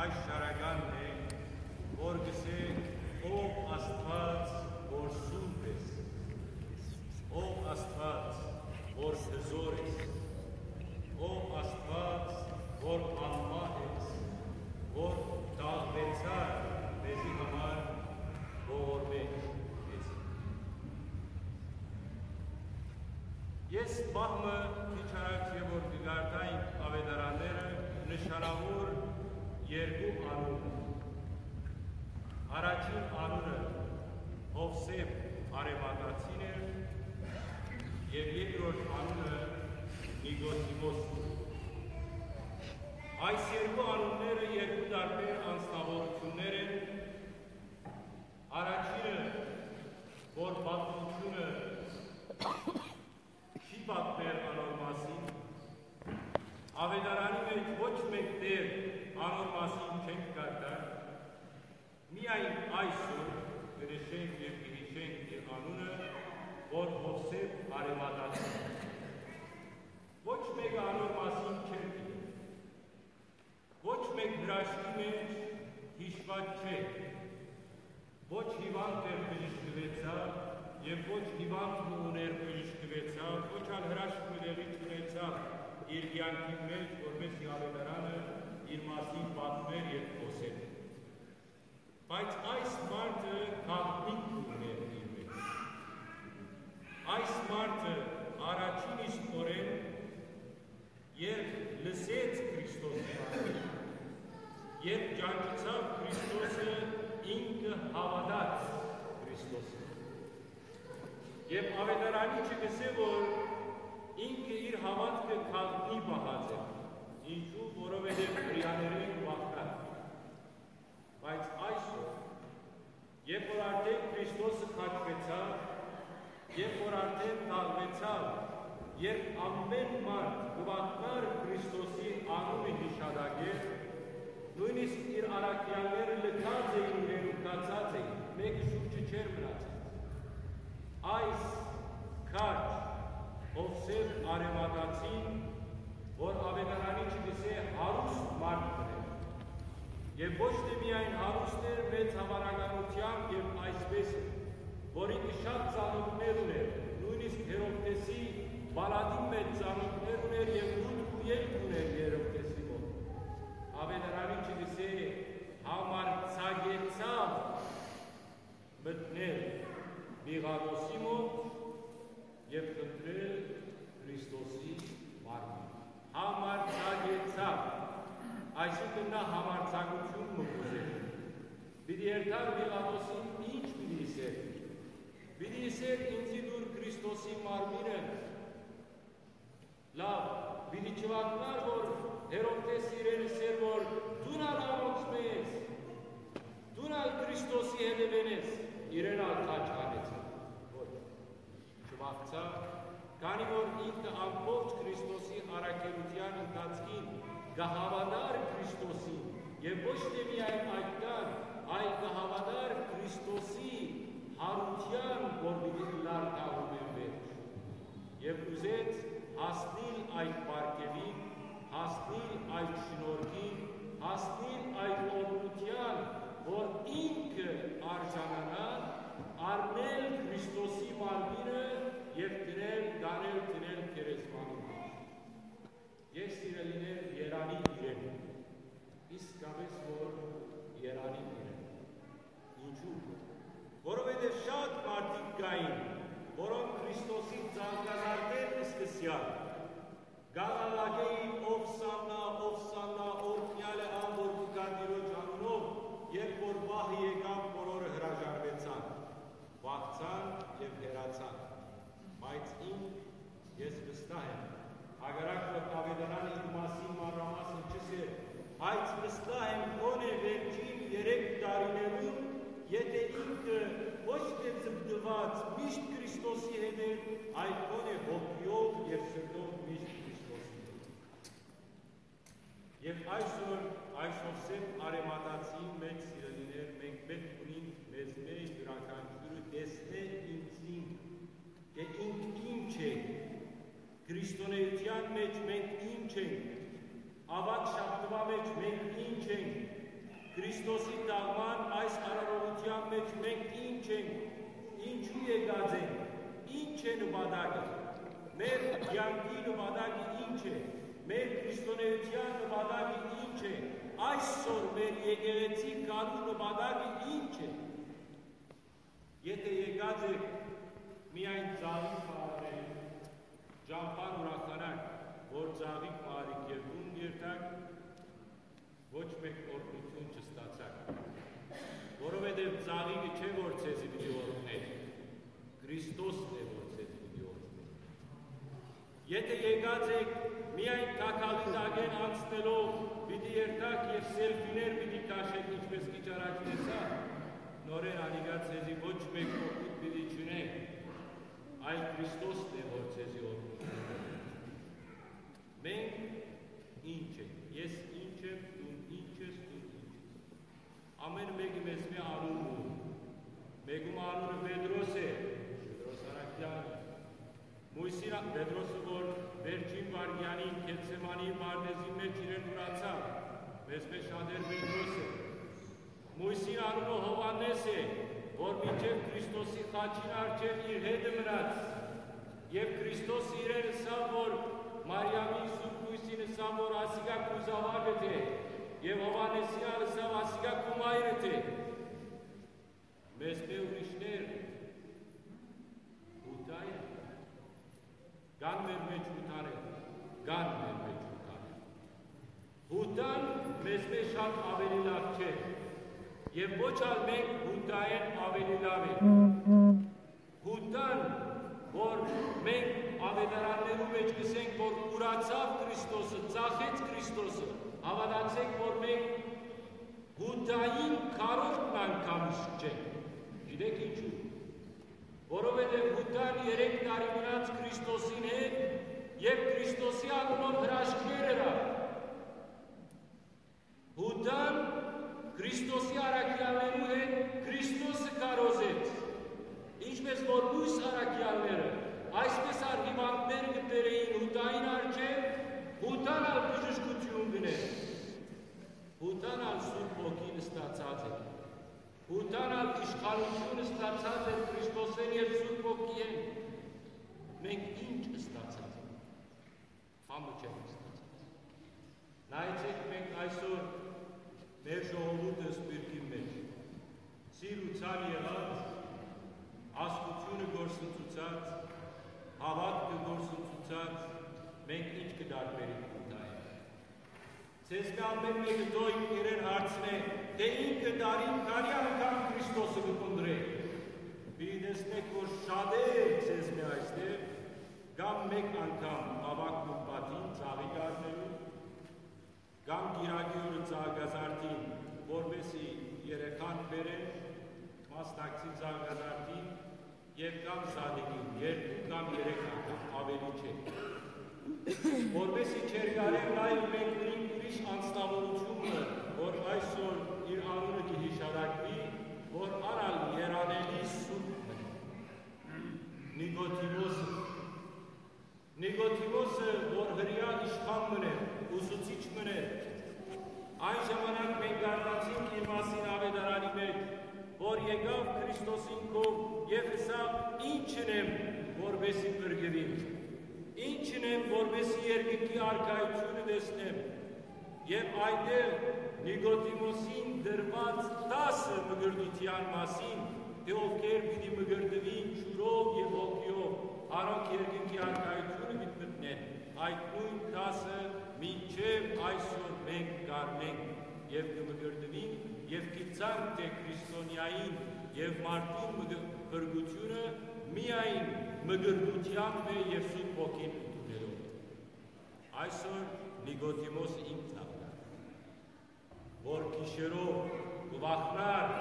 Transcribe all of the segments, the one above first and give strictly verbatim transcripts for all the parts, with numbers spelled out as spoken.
Այս շարականն է, որ կ'ըսէ. «Ով Աստուած, որ սուրբ ես, ով Աստուած, որ հզոր ես, ով Աստուած, որ անմահ ես, որ թաղուեցար մեզի համար, ողորմէ մեզի»։ Ես պահ մը քիչ առաջ եւ որ կը կարդայինք Աւետարանները, նշանաւոր երկու անուն։ Առաջին անունը Յովսէփ Արեմատացին էր եւ երկրորդ անունը Նիկոդիմոս։ Այս երկու անունները երկու տարբեր անձնաւորութիւններ են։ Առաջինը, որ պատմութիւնը չի պատմեր անոր մասին, Աւետարանի մէջ ոչ մէկ տեղ անոր մասին չենք կարդար, միայն այսօր կը նշենք եւ կը յիշենք իր անունը, որ Յովսէփ Արեմատացին է։ Ոչ մէկը անոր մասին չէր գիտեր։ Ոչ մէկ հրաշքի մէջ յիշուած չէ։ Ոչ հիվանդ էր, բժշկուեցաւ, եւ ոչ հիվանդ մը ուներ, բժշկուեցաւ, ոչ ալ հրաշք մը տեղի չունեցաւ իր կեանքին մէջ, որպէս զի Աւետարանը իր մասին պատմեր եւ խօսեր։ Բայց այս մարդը գաղտնիք կը ունէր իր մէջ։ Այս մարդը առաջին իսկ օրէն, երբ լսեց Քրիստոսի մասին, երբ ճանչցաւ Քրիստոսը, ինքը հաւատաց Քրիստոսին։ Եւ Աւետարանիչը կ'ըսէ, որ ինքը իր հաւատքը գաղտնի պահած էր։ Ինչու՞, որովհետեւ հրեաներէն վախկար։ Բայց այսօր, երբ որ արդէն Քրիստոսը խաչուեցաւ, երբ որ արդէն թաղուեցաւ, երբ ամէն մարդ կը վախնար Քրիստոսի անունը յիշատակել, նոյնիսկ իր առաքեալները լքած էին իրեն ու գացած էին, մէկը շուրջը չէր մնացած։ Այս քաջ Յովսէփ Արեմատացին, որ Աւետարանիչը կ'ըսէ հարուստ մարդ մըն էր, եւ ոչ թէ միայն հարուստ էր, մեծ հաւանականութեամբ եւ այսպէս էր, որ ինքը շատ ծանօթներ ունէր, նոյնիսկ Հերովդէսի պալատին մէջ ծանօթներ ունէր եւ մուտք ու ելք ունէր Հերովդէսի մօտ։ Աւետարանիչը կ'ըսէ, համարձակեցաւ մտնել Պիղատոսի մօտ եւ խնդրել Քրիստոսի մարմինը։ Համարձակեցաւ, այսինքն նա համարձակութիւն մը կ'ուզէր։ Պիտի երթար Պիղատոսին, ի՞նչ պիտի ըսէր։ Պիտի ըսէր. «Ինծի տուր Քրիստոսի մարմինը»։ Լաւ, պիտի չվախնար, որ Հերովդէս իրեն ըսէր, որ դուն ալ անոնցմէ ես, դուն ալ Քրիստոսի հետեւէն ես, իրեն ալ քաջ առնեցաւ։ Ոչ, չվախցաւ, քանի որ ինքը ամբողջ Քրիստոսի առաքելութեան ընթացքին կը հաւատար Քրիստոսին, եւ ոչ թէ միայն այդքան, այլ կը հաւատար Քրիստոսի յարութեան, որ պիտի ըլլար թաղումէն վերջ։ Եւ ուզեց հասնիլ այդ պարգեւին, հասնիլ այդ շնորհքին, հասնիլ այդ օրհնութեան, որ ինքը արժանանայ, առնել Քրիստոսի մարմինը եւ դնել, տանել, դնել գերեզմանին մէջ։ Ես, սիրելիներ, երանի իրեն, իսկապէս որ երանի իրեն։ Ինչու՞։ Որովհետեւ շատ մարդիկ կային, որոնք Քրիստոսին ծաղկազարդեր սկսեալ, կ'աղաղակէին. «Ովսաննա, ովսաննա, օրհնեալ է ան, որ կու գայ Տիրոջ անունով», երբ որ պահը եկաւ, բոլորը հրաժարուեցան, վախցան եւ հեռացան։ Բայց ինք, ես վստահ եմ, հակառակ որ Աւետարանը իր մասին մանրամասն չ'ըսէր, բայց վստահ եմ, գոնէ վերջին երեք տարիներուն, եթէ ինքը ոչ թէ ձգտուած միշտ Քրիստոսի հետ էր, այլ գոնէ հոգիով եւ սրտով միշտ Քրիստոսի հետ։ Եւ այսօր այս Յովսէփ Արեմատացիին մէջ, սիրելիներ, մենք պէտք ունինք մեզմէ յուրաքանչիւրը տեսնէ ինքզինք, թէ ինք ինչ է, քրիստոնէութեան մէջ մենք ինչ ենք, աւագ շաբթուայ մէջ մենք ինչ ենք, Քրիստոսի թաղման այս արարողութեան մէջ մենք ի՞նչ ենք, ինչո՞ւ եկած ենք, ի՞նչ է նպատակը, մեր կեանքի նպատակը ի՞նչ է, մեր քրիստոնէության նպատակը ի՞նչ է, այսօր մեր եկեղեցի գալու նպատակը ի՞նչ է։ Եթէ եկած եք միայն ծաղիկ մը առնել, ճամբան ուրախանաք, որ ծաղիկ մը առիք եւ տուն երթաք, ոչ մէկ օրհնութիւն չստացաք, որովհետեւ ծաղիկը չէ որ ձեզի պիտի օրհնէ, Քրիստոսն է որ ձեզի պիտի օրհնէ։ Եթէ եկած եք միայն թագալի տակէն անցնելով, պիտի երթաք եւ սելֆիներ պիտի քաշեք, ինչպես քիչ առաջ տեսայ, նորէն անիկա ձեզի ոչ մէկ օգուտ պիտի չունի, այլ Քրիստոսն է որ ձեզի օրհնութիւն։ Մենք ի՞նչ ենք, ես ի՞նչ եմ, դուն ի՞նչ ես, դուն ի՞նչ ես։ Ամէն մէկը մեզմէ անուն մը ունի։ Մէկուն անունը Պետրոս է, Պետրոս Արաքեան է։ Մոյսին ա-, Պետրոսը, որ վերջին վայրկեանին Գեթսեմանի պարտէզին մէջ իրեն ուրացաւ, մեզմէ շատեր Պետրոս է։ Մոյսին անունը Յովհաննէս է, որ մինչեւ Քրիստոսի խաչին առջեւ իր հետը մնաց։ Եւ Քրիստոս իրեն ըսաւ, որ Մարիամին սուրբ կոյսին ըսաւ, որ ասիկա քու զաւակդ է, եւ Յովհաննէսին ալ ըսաւ, ասիկա քու մայրդ է։ Մեզմէ ուրիշներ Յուդա են, կան մեր մէջ Յուդաներ, կան մեր մէջ Յուդաներ։ Յուդան մեզմէ շատ աւելի լաւ չէ, եւ ոչ ալ մենք Յուդայէն աւելի լաւ ենք։ Յուդան, որ մենք աւետարաններու մէջ կ'ըսենք, որ ուրացաւ Քրիստոսը, ծախեց Քրիստոսը, հաւատացէք, որ մենք Յուդային քառորդն անգամ իսկ չենք։ Գիտէք ինչու՞։ Որովհետեւ Յուդան երեք տարի մնաց Քրիստոսին հետ եւ Քրիստոսի անունով հրաշքներ ըրաւ։ Յուդան Քրիստոսի առաքեալներու հետ Քրիստոսը քարոզեց, ինչպէս որ մյուս առաքեալները, այսպէս ալ հիւանդներ կը բերէին Յուդային առջեւ, Յուդան ալ բժշկութիւն կ'ընէր։ Յուդան ալ Սուրբ Հոգին ստացած էր։ Յուդան ալ իշխանութիւն ստացած էր Քրիստոսէն եւ Սուրբ Հոգիէն։ Մենք ի՞նչ ստացած ենք։ Բան մը չենք ստացած։ Նայեցէք, մենք այսօր մեր ժողովուրդը սպիրկին մէջ, սիրուցան եղած, աստութիւնը գործընծուցած, հաւատքը գործընծուցած, մենք ի՞նչ կը տարբերենք Յուդայէն։ Ձեզմէ ամէն մէկը դոյ իրեն հարցնէ, թէ ինքը տարին քանի՞ անգամ Քրիստոսը կը փնտռէ։ Պիտի տեսնէք, որ շատեր ձեզմէ այստեղ կամ մէկ անգամ աւագնուն պատին ծաղիկ առնելու, կամ կիրակի օրը ծաղկազարդին, որպէսզի երեխան բերեն, մասնակցին ծաղկազարդին եւ կամ զատիկին, երկու կամ երեք անգամ, աւելի չէ։ Որպէսզի չերկարեն լայվ, մենք ունենք ուրիշ անձնաւորութիւնը, որ այսօր իր անունը կը յիշատակուի, որ ան ալ երանելի սուրբն է, Նիկոդիմոսը։ Նիկոդիմոսը, որ հրեայ իշխան մըն էր, ուսուցիչ մըն էր, այն ժամանակ մենք կարդացինք իր մասին աւետարանի մէջ, որ եկաւ Քրիստոսին քով եւ ըսաւ. «Ի՞նչ ընեմ, որպէսզի փրկուիմ, ի՞նչ ընեմ, որպէսզի երկնքի արքայութիւնը տեսնեմ»։ Եւ այնտեղ Նիկոդիմոսին տրուած տասը մկրտութեան մասին, թէ ովքեր պիտի մկրտուին ջուրով եւ հոգիով, անոնք երկնքի արքայութիւնը պիտի մտնեն, այդ նոյն տասը մինչեւ այսօր մենք կ'առնենք եւ կը մկրտուինք եւ գիտցանք, թէ քրիստոնեային եւ մարդուն մկր-, փրկութիւնը միայն մկրտութեամբ է եւ Սուրբ Հոգին ընդունելով։ Այսօր Նիկոդիմոսը ինքն ալ կայ, որ գիշերով կը վախնար,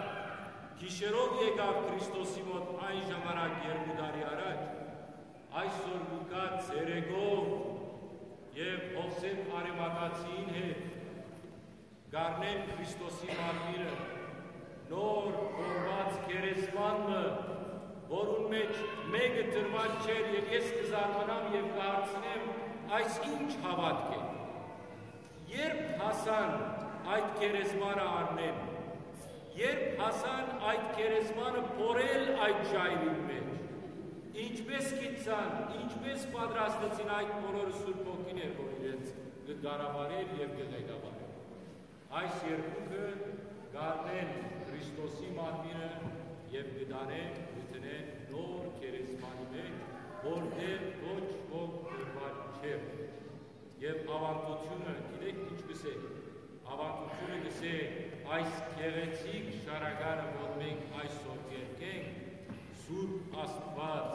գիշերով եկաւ Քրիստոսի մօտ այն ժամանակ երկու տարի առաջ, այսօր կու գայ ցերեկով եւ Յովսէփ Արեմաթացիին հետ կ'առնեն Քրիստոսի մարմինը, նոր կորուած գերեզման մը, որուն մէջ մէկը տրուած չէր, եւ ես կը զարմանամ եւ կը հարցնեմ, այս ի՞նչ հաւատք է։ Երբ հասան այդ գերեզմանը առնեն։ Երբ հասան այդ գերեզմանը փորել այդ ժայռին մէջ, ինչպէս գիտցան, ինչպէս պատրաստեցին այդ բոլորը Սուրբ Հոգին էր, որ իրենց կը կառավարէր եւ կը ղեկավարէր։ Այս երկուքը կ'առնեն Քրիստոսի մարմինը եւ կը տանեն, կը դնեն նոր գերեզմանի մէջ, որտեղ ոչ ոք դրուած չէր։ Եւ աւանդութիւնը, գիտէք ինչ կ'ըսէ, աւանդութիւնը կ'ըսէ, այս գեղեցիկ շարականը, որ մենք այսօր կերկենք, Սուրբ Աստուած,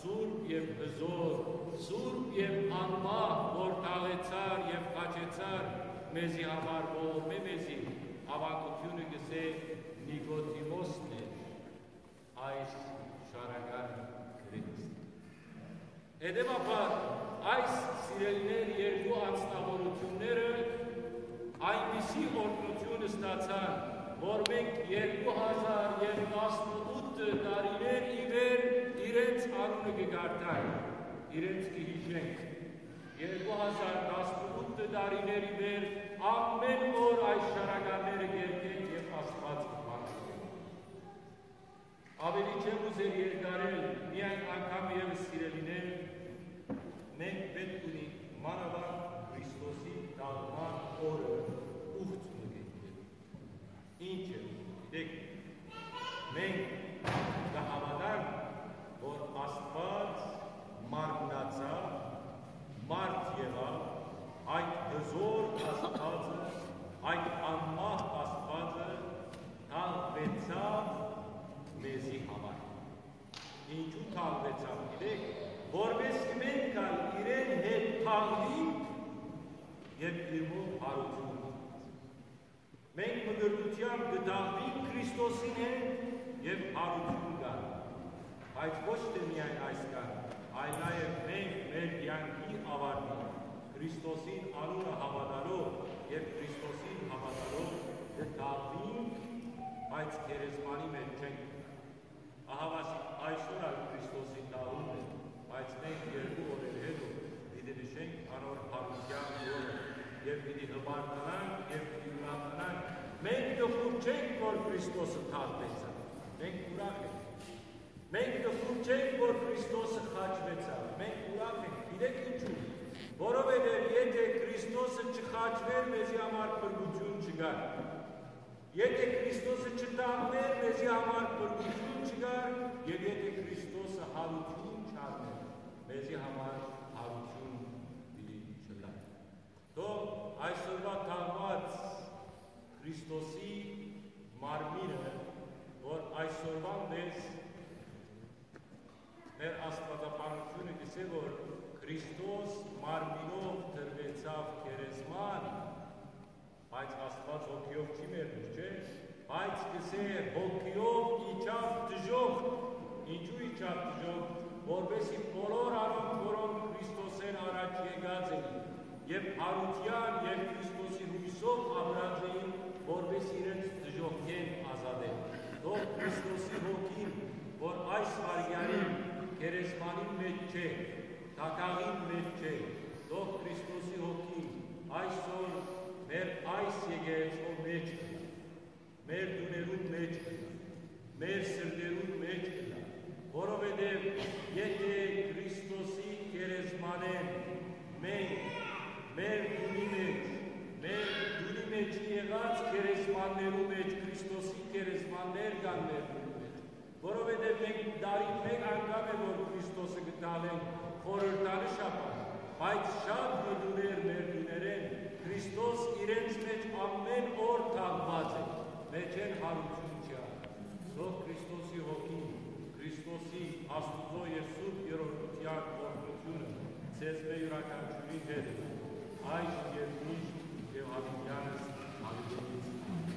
Սուրբ եւ Հզոր, Սուրբ եւ Անմահ, որ թաղեցար եւ խաչեցար մեզի համար, բոլորմէ մեզի, աւանդութիւնը կ'ըսէ, Նիկոդիմոսն է այս շարականը գրեց։ Հետեւաբար, այս, սիրելիներ, երկու անձնավորութիւնները այնպիսի օրհնութիւն ստացան, որ մենք երկու հազար եւ տասնութ տարիներ ի վեր իրենց անունը կը կարդանք, իրենց կը յիշենք։ Երկու հազար տասնութ տարիներ ի վեր ամէն օր այս շարականները կերկենք եւ Աստուած կը փառք։ Ավելի չեմ ուզեր երկարել, միայն անգամ եւս, սիրելիներ, մենք պէտք ունի մանաւանդ Քրիստոսի թաղման օրը ուխտ մը կենքել։ Ինչ է, գիտեք, մենք կը հաւատանք, որ Աստուած մարմնացաւ, մարդ եղաւ, այդ հզոր Աստուածը, այդ անմահ Աստուածը թաղուեցաւ մեզի համար։ Ինչու թաղուեցաւ, գիտեք, որպէս մենք ալ իրեն հետ թաղուինք եւ իրմով հարութիւն։ Մենք մկրտութեամբ կը թաղուինք Քրիստոսին հետ եւ հարութիւն կան։ Բայց ոչ թէ միայն այսքան, այլ նաեւ մենք մեր կեանքի աւարտին Քրիստոսին անունը հաւատալով եւ Քրիստոսին հաւատալով կը թաղուինք, բայց գերեզմանի մէջ չենք։ Ահա ասի, այսօր ալ Քրիստոսի թաղումն է, բայց մենք երկու օրեր հետո պիտի նշենք անոր հարութեան օրը եւ պիտի հպարտանանք եւ պիտի ուրախանանք։ Մենք կը խուրջենք, որ Քրիստոսը թաղուեցաւ։ Մենք ուրախ ենք։ Մենք կը խուրջենք, որ Քրիստոսը խաչուեցաւ։ Մենք ուրախ ենք։ Գիտեք ինչու՞։ Որովհետեւ եթէ Քրիստոսը չխաչուէր, մեզի համար փրկութիւն չկար։ Եթէ Քրիստոսը չթաղուէր, մեզի համար փրկութիւն չկար, եւ եթէ Քրիստոսը հարութիւն չառնէր, մեզի համար հարութիւն պիտի չըլլար։ Թող այսօրուա թաղուած Քրիստոսի մարմինը, որ այսօրուան մեզ մեր աստուածաբանութիւնը կ'ըսէ, որ Քրիստոս մարմինով դրուեցաւ գերեզման, բայց Աստուած հոգիով չի մեռնիր, չէ՞։ Բայց կ'ըսէ, հոգիով իջաւ դժոխք։ Ինչու իջաւ դժոխք, որպէսզի բոլոր անոնք, որոնք Քրիստոսէն առաջ եկած էին եւ յարութեան եւ Քրիստոսի յոյսով ապրած էին, որպէս իրենց դժոխքէն ազատեն։ Թող Քրիստոսի հոգին, որ այս վայրկեանին գերեզմանին մէջ չէ, դագաղին մէջ չէ, թող Քրիստոսի հոգին այսօր մեր այս եկեղեցու մէջ ըլլայ, մեր տուներուն մէջ ըլլայ, մեր սրտերուն մէջ ըլլայ, որովհետեւ եթէ Քրիստոսի գերեզմանէն մենք մեր տունի մէջ, մեր տունի մէջ եղած գերեզմաններու մէջ, Քրիստոսի գերեզմաններ կան մեր տունի մէջ, որովհետեւ մենք տարին մէկ անգամ է, որ Քրիստոսը կը թաղենք խորհրդանշ ապա, բայց շատ մը տուներ մեր տուներէն Քրիստոս իրենց մէջ ամէն օր թաղուած է, մէջէն յարութիւն չի եղեր։ Թող Քրիստոսի հոգին, Քրիստոսի, Աստուծոյ եւ Սուրբ Երրորդութեան օրհնութիւնը ձեզմէ յուրաքանչիւրին հետ, այժմ եւ միշտ եւ յաւիտեանս յաւիտենից։